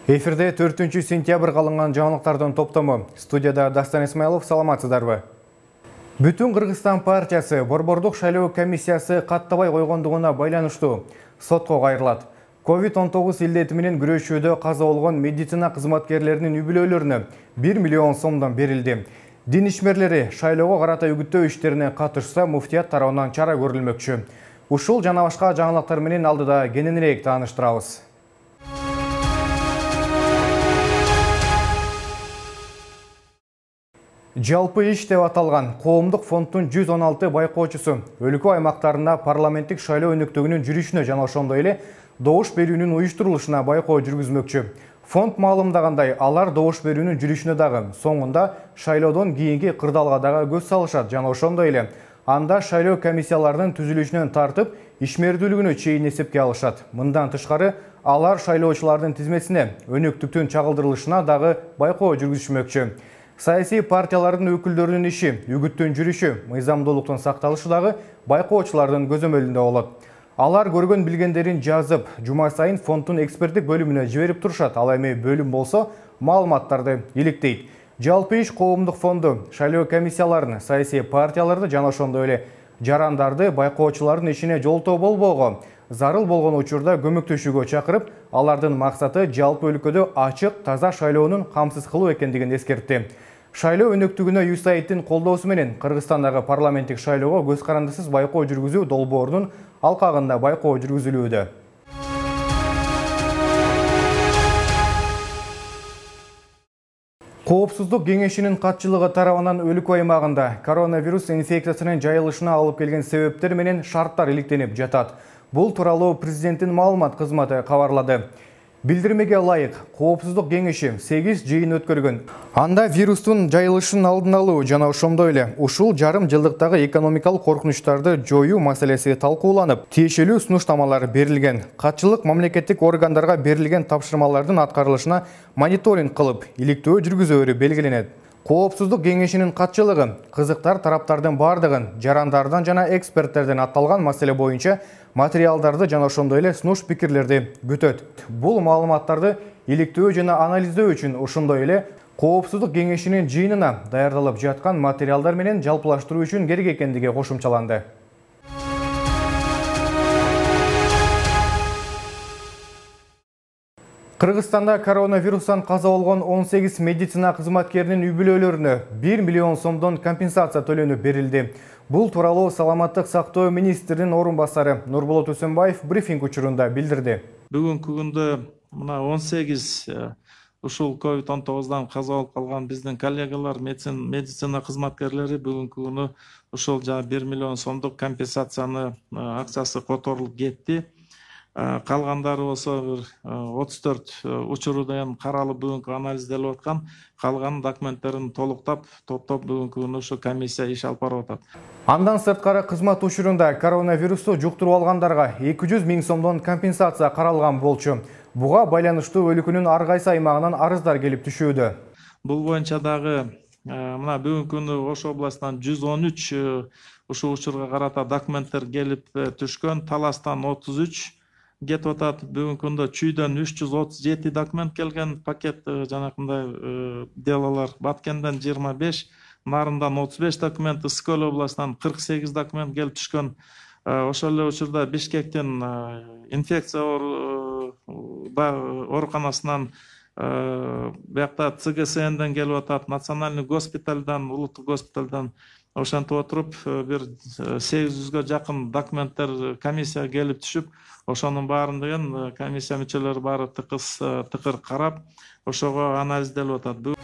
Эфирде 4 сентябрь калынган жаңылыктардын топтому. Студияда Дастан Исмаилов, саламатсыздарбы? Бүтүн Кыргызстан партиясы борбордук шайлоо комиссиясы каттабай койгондугуна байланыштуу сотко кайрылат. COVID-19 илдети менен күрөшүүдө каза болгон медицина кызматкерлеринин үй-бүлөлөрүнө 1 миллион сомдон берилди. Дин ишмерлери шайлоого карата үгүттөө иштерине катышса, муфтият тарабынан чара көрүлмөкчү. Ушул жана башка жаңылыктар менен алдыда кененирээк тааныштырабыз. Жалпы иш деп аталган коомдук фонддун 116 байкоочусу өлкө аймактарында парламенттик шайлоо өнөктүгүнүн жүрүшүнө жана ошондой эле добуш берүүнүн уюштурулушуна байкоо жүргүзмөкчү. Фонд маалымдагандай, алар добуш берүүнүн жүрүшүнө дагы, соңунда шайлоодон кийинки кырдаалга дагы көз салышат жана ошондой эле анда шайлоо комиссияларынын түзүлүшүнөн тартып ишмердүүлүгүнө чейин эсепке алышат. Мындан тышкары, алар шайлоочулардын тизмесине өнөктүктүн чагылдырылышына дагы байкоо жүргүзүшмөкчү. Саясий партиялардын өкүлдөрүнүн иши, үгүттүн жүрүшү, мыйзамдуулуктун сакталышы дагы байкоочулардын көзөмөлүндө болот. Алар көргөн билгендерин жазып, жума сайын фонддун эксперттик бөлүмүнө жиберип турушат. Ал эми бөлүм болсо маалыматтарды иликтейт. Жалпы иш коомдук фонду шайлоо комиссияларын, саясий партияларды жана ошондой эле жарандарды байкоочулардын ишине жолтоо болбоого, зарыл болгон учурда көмөктөшүүгө чакырып, алардын максаты жалпы өлкөдө ачык, таза шайлоонун камсыз кылуу экендигин эскертти. Шайлоо өнөктүгүнө USAID-тин колдоосу менен Кыргызстандагы парламенттик шайлоого көз карандысыз байкоо жүргүзүү долбоорунун алкагында байкоо жүргүзүлүүдө. Коопсуздук кеңешинин катчылыгы тарабынан өлкө аймагында коронавирус инфекциясынын жайылышына алып келген себептер менен шарттар иликтенип жатат. Бул тууралуу президенттин маалымат кызматы кабарлады. Билдирмеге ылайык, коопсуздук кеңеши 8 жыйын өткөргөн. Анда вирустун жайылышын алдын алуу жана ошондой эле ушул жарым жылдыктагы экономикалык коркунучтарды жоюу маселеси талкууланып, тиешелүү сунуштамалар берилген. Катчылык мамлекеттик органдарга берилген тапшырмалардын аткарылышына мониторинг кылып, иликтөө жүргүзөөрү белгиленет. Коопсуздук кеңешинин катчылыгы кызыктар тараптардын бардыгын жарандардан жана эксперттерден атталган маселе боюнча материалдарды жана ошондой эле сунуш пикирлерди күтөт. Бул маалыматтарды иликтөө жана анализдөө үчүн ошондой эле коопсуздук кеңешинин жыйынына даярдалып жаткан материалдар менен жалпылаштыруу үчүн керек экендиги кошумчаланды. Кыргызстанда коронавирустан каза болгон 18 медицина кызматкеринин үй-бүлөлөрүнө 1 миллион сомдон компенсация төлөнүп берилди. Бул тууралуу саламаттык сактоо министринин орун басары Нурболот Өсөнбаев брифинг учурунда билдирди. Бүгүнкү күндө мына 18 ушул COVID-19-дан каза болуп калган биздин коллегалар, медицина кызматкерлери бүгүнкү күнү ушул 1 миллион сомдук компенсацияны акчасы которулуп кетти. Калгандары болсо 34 учурдан каралып бүгүнкү анализделип аткан. Калган документтерин толуктап, топтоп бүгүнкү күнү ушу комиссия иш алып барып атат. Андан сырткары кызмат учурунда коронавирусту жуктуруп алгандарга 200 000 сомдон компенсация каралган болчу. Буга байланыштуу өлкөнүн ар кайсы аймагынан арыздар келип түшүүдө. Бул боюнча дагы мына бүгүнкү күнү Ош областынан 113 ушул учурга карата документтер келип түшкөн. Таластан 33 кетип атат. Бүгүнкү күндө Чүйдөн 337 документ келген, пакет жанакындай делолор. Баткенден 25, Нарындан 35 документ, Ысык-Көл областынан 48 документ келип түшкөн. Ошол эле учурда Бишкектин инфекция ооруканасынан биякта ЦГСНден келип атат, Национальный госпитальдан, улуттук госпитальдан ошентип отуруп бир 800гө жакын документтер комиссия келип түшүп, ошонун баарын деген комиссия мүчөлөрү баары тыкыр карап, ошого анализделип атат.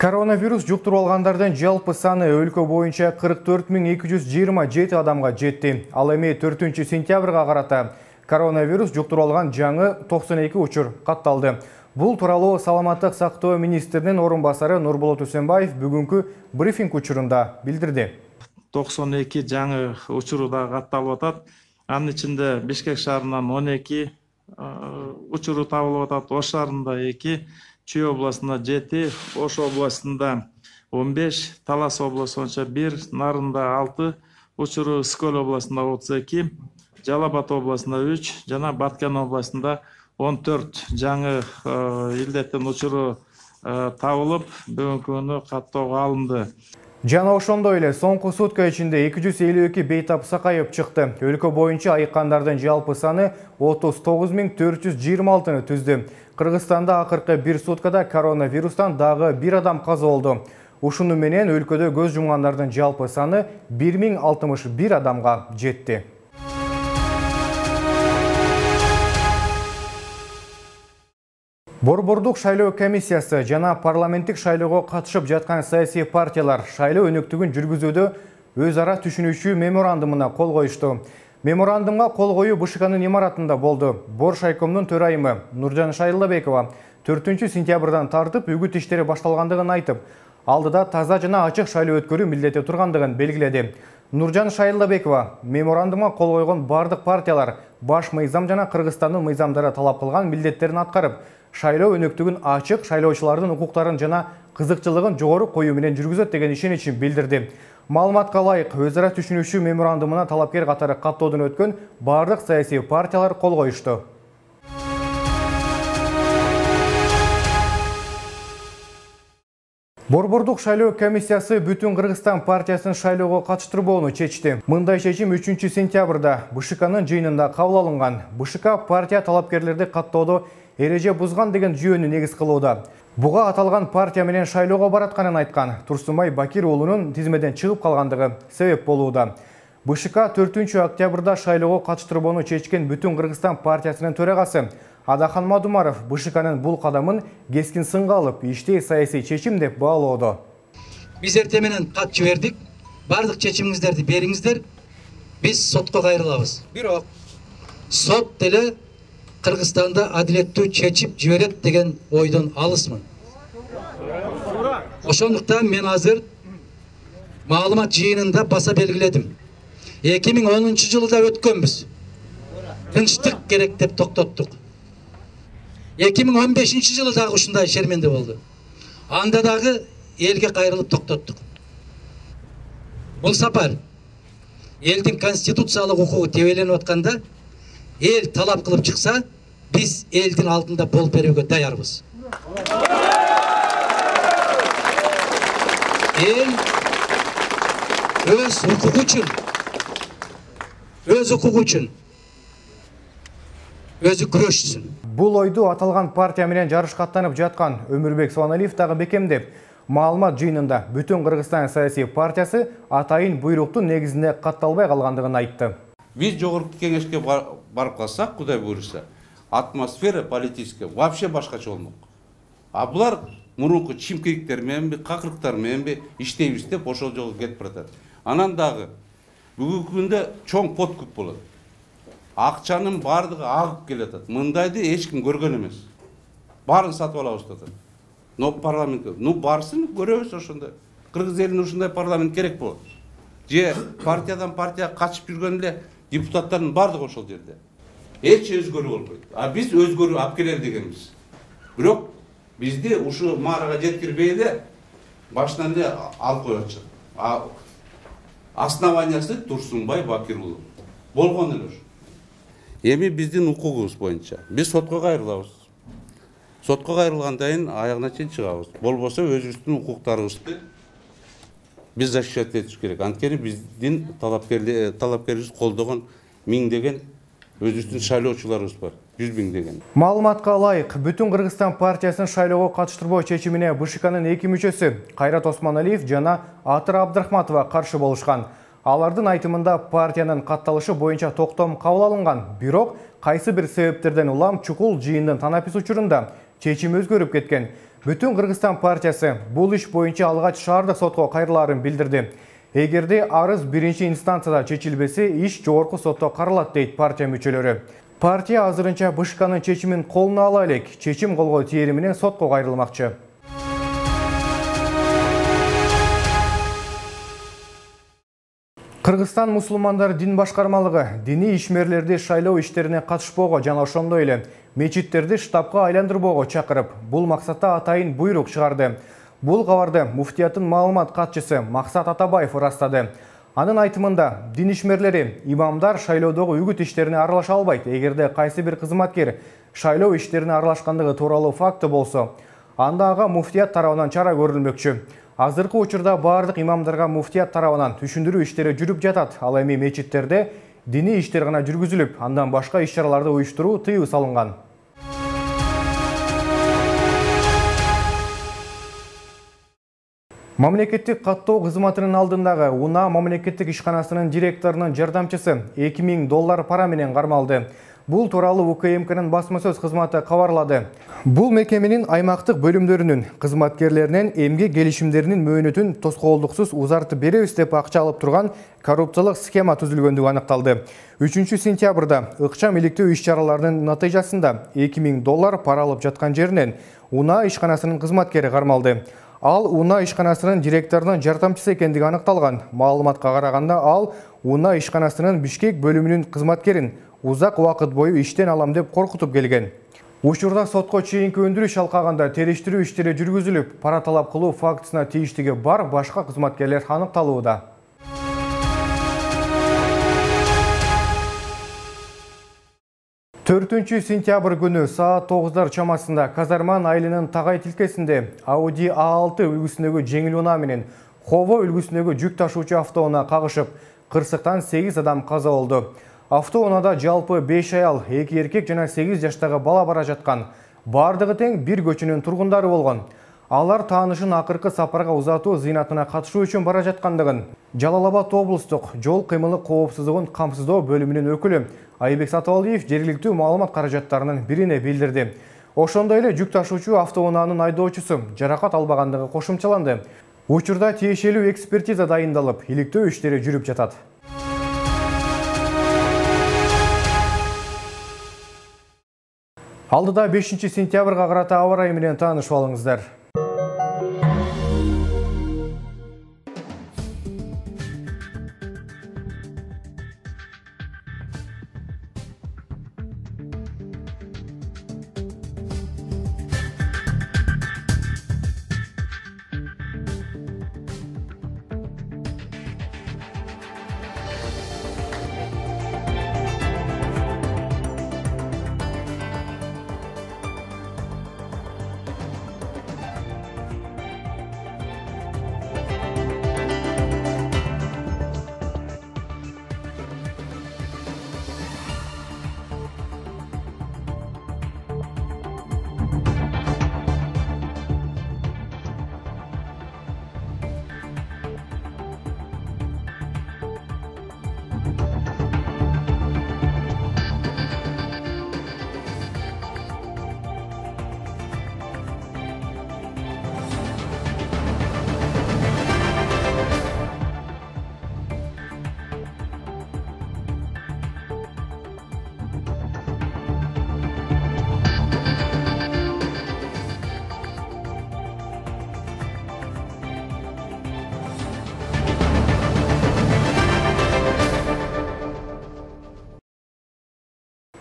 Коронавирус жуктуруп алгандардын жалпы саны өлкө боюнча 44 227 адамга жетти. Ал эми 4 сентябрга карата коронавирус жуктуруп алган жаңы 92 учур катталды. Бул тууралуу саламаттык сактоо министринин орун басары Нурболот Өсөнбаев бүгүнкү брифинг учурунда билдирди. 92 жаңы учуру да катталып атат. Анын ичинде Бишкек шаарынан 12 учуру табылып атат, Ош шаарында 2, Чүй областында 7, Ош областында 15, Талас областында 1, Нарында 6 учуру, Ысык-Көл областында 32, Жалал Абад областында 3, жана Баткен областында 14 жаңы илдеттин учуру табылып, бүгүнкү күнү каттоого алынды. Жана ошондой эле соңку сутка ичинде 252 бейтап сакайып чыкты. Өлкө боюнча айыккандардын жалпы саны 39.426-ны түздү. Кыргызстанда акыркы бир суткада коронавирустан дагы бир адам каза болду. Ушуну менен өлкөдө көз жумгандардын жалпы саны 1061 адамга жетти. Борбордук шайлоо комиссиясы жана парламенттик шайлоого катышып жаткан саясий партиялар шайлоо өнөктүгүн жүргүзүүдө өз ара түшүнүшүү меморандумуна кол коюшту. Меморандумга кол коюу БШКнын имаратында болду. Борш айкомдун төрайымы Нуржан Шайылбекова 4-сентябрдан тартып үгүт иштери башталгандыгын айтып, алдыда таза жана ачык шайлоо өткөрүү милдети тургандыгын белгиледи. Нуржан Шайылбекова меморандумга кол койгон бардык партиялар баш мыйзам жана Кыргызстандын мыйзамдары талап кылган милдеттерин аткарып, шайлоо өнөктүгүн ачык, шайлоочулардын укуктарын жана кызыкчылыгын жогору коюу менен жүргүзөт деген ишеничин билдирди. Маалыматка ылайык, өз ара түшүнүшүү меморандумуна талапкер катары каттоодон өткөн бардык саясий партиялар кол коюшту. Борбордук шайлоо комиссиясы Бүтүн Кыргызстан партиясын шайлоого катыштырбоону чечти. Мындай чечим 3-сентябрда БШКнын жыйынында кабыл алынган. БШК партия талапкерлерди каттоодо эреже бузган деген жүйөнү негиз кылууда. Буга аталган партия менен шайлоого баратканын айткан Турсунбай Бакир уулунун тизмеден чыгып калгандыгы себеп болууда. БШК 4-октябрда шайлоого катыштырбоону чечкен Бүтүн Кыргызстан партиясынын төрагасы Адахан Мадумаров БШКнын бул кадамын кескин сынга алып, иштей саясий чечим деп баалоодо. Биз эртең менен кат жибердик. Бардык чечимиңиздерди бериңиздер. Биз сотко кайрылабыз. Бирок сот деле Кыргызстанда адилеттүү чечип жиберет деген ойдон алысмын. Ошондуктан мен азыр маалымат жыйынында баса белгиледим. 2010 жылда өткөнбүз. Тынчтык керек деп токтоттук. 2015 жылы дагы ушундай шерменде болду. Анда дагы элге кайрылып токтоттук. Бул сапар элдин конституциялык укугу тебеленип атканда, эл талап кылып чыкса, биз элдин алдында болуп берүүгө даярбыз. Эл өз укугу үчүн өзү күрөшсүн. Бул ойду аталган партия менен жарыш каттанып жаткан Өмүрбек Суаналиев дагы бекемдеп, маалымат жыйынында Бүтүн Кыргызстан саясий партиясы атайын буйруктун негизинде катталбай калгандыгын айтты. Биз жогорку кеңешке барып калсак, Кудай буйруса, атмосфера политическая вообще башкача болмок. А булар мурунку чимкириктер мененби, какырыктар мененби иштейбиз деп ошол жолго кетип баратат. Анан дагы бүгүнкү күндө чоң подкуп болот. Акчанын бардыгы агып келатат. Мындайды эч ким көргөн эмес. Баарын сатып алабыз деп атат. Но парламентке, барсын көрөбүз ошондо. Кыргыз элине ушундай парламент керек болот. Же партиядан партия качып жүргөн эле депутаттардын бардыгы ошол жерде. Эч өзгөрүү болбойт. А биз өзгөрүү алып келели дегенбиз. Бирок бизди ушу маарага жеткирбей эле башынан эле алып коёчу. Основаниясы Турсунбай Бакир уулу. Болгон эле ошо. Эми биздин укугубуз боюнча биз сотко кайрылабыз. Сотко кайрылгандан кийин аягына чейин чыгабыз. Болбосо өзүбүздүн укуктарыбызды биз защищать этиш керек. Анткени биздин талапкерибиз колдогон миңдеген өзүбүздүн шайлоочуларыбыз бар. 100 миңдеген. Маалыматка ылайык, Бүтүн Кыргызстан партиясын шайлоого катыштырбоо чечимине БШКнын 2 мүчөсү Кайрат Осмоналиев жана Атыр Абдрахматова каршы болушкан. Алардын айтымында партиянын катталышы боюнча токтом кабыл алынган, бирок кайсы бир себептерден улам чукул жыйындын танапис учурунда чечим өзгөрүп кеткен. Бүтүн Кыргызстан партиясы бул иш боюнча алгач шаардык сотко кайрылаарын билдирди. Эгерде арыз биринчи инстанцияда чечилбесе, иш жогорку сотто каралат дейт партия мүчөлөрү. Партия азырынча БШКнын чечимин колуна ала элек, чечим колго тиери менен сотко кайрылмакчы. Кыргызстан мусулмандар дин башкармалыгы диний ишмерлерди шайлоо иштерине катышпоого жана ошондой эле мечиттерди штабка айландырбоого чакырып, бул максатта атайын буйрук чыгарды. Бул кабарды муфтияттын маалымат катчысы Максат Атабаев ырастады. Анын айтымында дин ишмерлери, имамдар шайлоодогу үгүт иштерине аралаша албайт. Эгерде кайсы бир кызматкер шайлоо иштерине аралашкандыгы тууралуу факты болсо, анда ага муфтият тарабынан чара көрүлмөкчү. Азыркы учурда бардык имамдарга муфтият тарабынан түшүндүрүү иштери жүрүп жатат. Ал эми мечиттерде диний иштер гана жүргүзүлүп, андан башка иш-чараларды уюштуруу тыюу салынган. Мамлекеттик каттоо кызматынын алдындагы УНА мамлекеттик ишканасынын директорунун жардамчысы $2000 пара менен кармалды. Бул тууралуу УКМКнын басма сөз кызматы кабарлады. Бул мекеменин аймактык бөлүмдөрүнүн кызматкерлеринен эмгек келишимдеринин мөөнөтүн тоскоолдуксуз узартып беребиз деп акча алып турган коррупциялык схема түзүлгөндүгү аныкталды. 3-сентябрда ыкчам иликтөө иш-чараларынын натыйжасында $2000 пара алып жаткан жеринен УНА ишканасынын кызматкери кармалды. Ал УНА ишканасынын директорунун жардамчысы экендиги аныкталган. Маалыматка караганда ал УНА ишканасынын Бишкек бөлүмүнүн кызматкерин узак убакыт бою иштен алам деп коркутуп келген. Учурда сотко чейинки өндүрүш алкагында териштирүү иштери жүргүзүлүп, пара талап кылуу фактысына тийиштиги бар башка кызматкерлер аныкталууда. Сентябрь күнү саат 9 чамасында Казарман айылынын Тагай тилкесинде Audi A6 үлгүсүндөгү жеңил унаа менен Хово үлгүсүндөгү жүк ташуучу автоунаа кагышып, кырсыктан 8 адам каза болду. Автоунаада жалпы 5 аял, 2 эркек жана 8 жаштагы бала бара жаткан. Бардыгы тең бир көчүнүн тургундары болгон. Алар таанышын акыркы сапарга узатуу зыйнатына катышуу үчүн бара жаткандыгын Жалал Абад облустук жол кыймылы коопсуздугун камсыздоо бөлүмүнүн өкүлү Айбек Сатыбалдиев жергиликтүү маалымат каражаттарынын бирине билдирди. Ошондой эле жүк ташуучу автоунаанын айдоочусу жаракат албагандыгы кошумчаланды. Учурда тиешелүү экспертиза дайындалып, иликтөө иштери жүрүп жатат. Алдыда 5-сентябрга карата аба ырайы менен таанышып алыңыздар.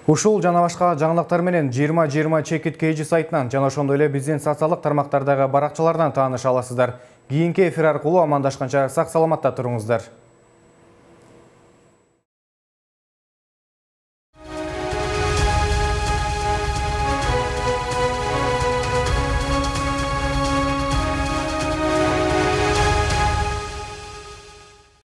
Ушул жана башка жаңылыктар менен 2020 чекит KG сайтынан жана ошондой эле биздин социалдык тармактардагы баракчалардан тааныша аласыздар. Кийинки эфир аркылуу амандашканча сак саламатта туруңуздар.